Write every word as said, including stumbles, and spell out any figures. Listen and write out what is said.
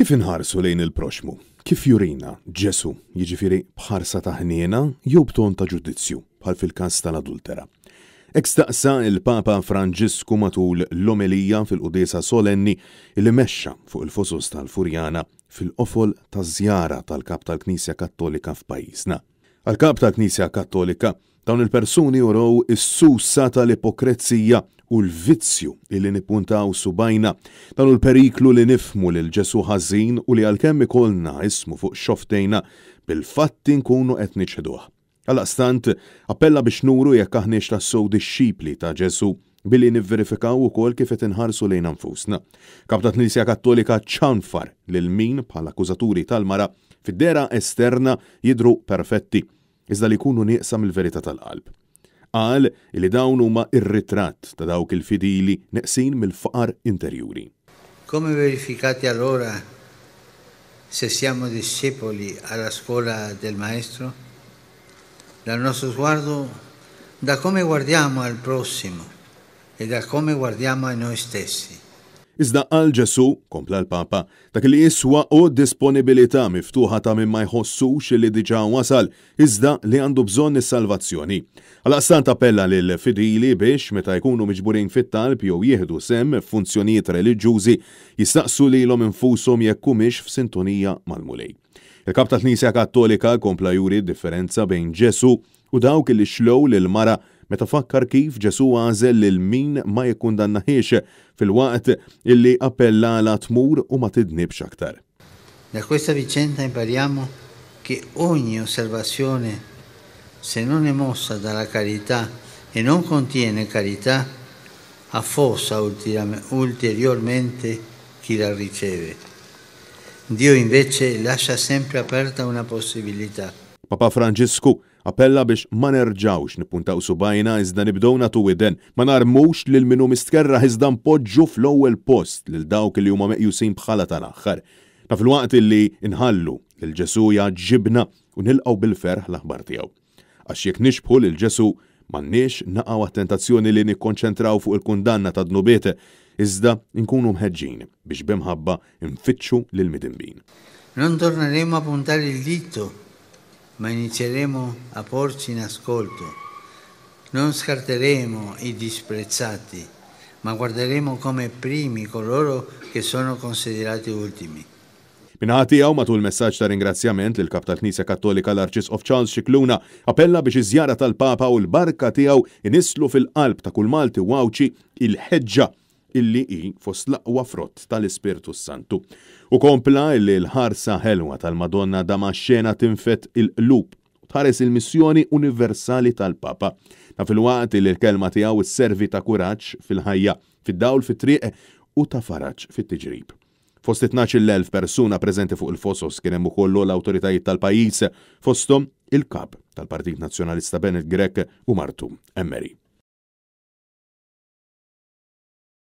Kif inħarsu lejn il-proxmu? Kif jurina Ġesu, jiġifieri b'ħarsa ta' ħniena jew b'ton ta' ġudizzju, bħal fil-każ tal-adultera? Hekk staqsa il-Papa Franġisku matul l-omelija fil-quddiesa solenni li mexxa fuq il-fosos tal-Furjana fil-qofol taż-żjara tal-Kap tal-Knisja Kattolika f'pajjiżna. Għall-Kap tal-Knisja Kattolika, dawn il-persuni urew is-susa tal-ipokrezija u l-vizzju li nippuntaw subgħajna. Dan hu l-periklu li nifhmu lil Ġesu ħażin u li għalkemm ikollna ismu fuq xofftejna, bil-fatti nkunu qed niċħduh. Għaldaqstant, appella biex nuru jekk aħniex tassew dixxipli ta' Ġesu billi nivverifikaw ukoll kif qed inħarsu lejn nfusna. Kap ta' Knisja Kattolika ċanfar lil min bħala akkużaturi tal-mara fid-dehra esterna jidhru perfetti, iżda li jkunu nieqsa mill-verità tal-qalb. Qal li dawn huma ir-ritratt ta' dawk il-fidili neqsin mill-faqar interjuri. Come verificate allora se siamo discepoli alla scuola del Maestro? Dal nostro sguardo, da come guardiamo al prossimo e da come guardiamo a noi stessi. Iżda għal Ġesu, kompla l-Papa, dak li jiswa hu disponibilità miftuħa ta' min ma jħossux li diġà wasal, iżda li għandu bżonn is-salvazzjoni. Għaldaqstant appella lil fidili biex meta jkunu miġburin fit-talb jew jieħdu sehem f'funzjonijiet reliġjużi jistaqsu lilhom infushom jekk humiex f'sintonija mal-Mulej. Il-Kap tal-Knisja Kattolika kompla juri differenza bejn Ġesu u dawk li xlow lil mara meta fakkar kif Ġesu għażel lil min ma jikkundannahiex filwaqt illi appellala tmur u ma tidnibx aktar. Da questa vicenda impariamo che ogni osservazione, se non è mossa dalla carità e non contiene carità, affossa ulteriormente chi la riceve. Dio invece lascia sempre aperta una possibilità. Papa Franġisku appella biex ma nerġawx nippuntaw subgħajna iżda nibdew nagħtu widen, ma narmux lil min hu mistkerrah iżda npoġġu fl-ewwel post lil dawk li huma meqjusin bħala tal-aħħar. Ta' filwaqt illi nħallu lil Ġesu jgħaġġibna u nilqgħu bil-ferħ l-aħbar tiegħu. Għax jekk nixbħu lil Ġesu m'għandniex naqgħu għat-tentazzjoni li nikkonċentraw fuq il-kundanna ta' dnubiet, iżda nkunu mħeġġin biex b'imħabba nfittxu lil midinbin. Non torneremo a puntare il dito, ma inizieremo a porci in ascolto. Non scarteremo i disprezzati, ma guarderemo come primi coloro che sono considerati ultimi. Min-naħa tiegħu, matul messaġġ ta' ringrazzjament lil kap tal-Knisja Kattolika, l-Arċisqof Charles Scicluna appella biex iż-żjara tal-Papa u l-barka tiegħu inisslu fil-qalb ta' kull Malti u Għawdxi il-ħeġġa illi hi fost l-aqwa frott tal-Ispirtu Santu. U kompla illi l-ħarsa ħelwa tal-Madonna Damaxxena tinfed il-qlub u tħares il-missjoni universali tal-Papa. Ta' filwaqt li l-kelma tiegħu sservi ta' kuraġġ fil-ħajja, fid-dawl fit-triq u ta' faraġ fit-tiġrib. Fost tnax-il elf persuna preżenti fuq il-fosos kien hemm ukoll l-awtoritajiet tal-pajjiż, fosthom il-kap tal-Partit Nazzjonalista Bernard Grech u martu Anne Marie.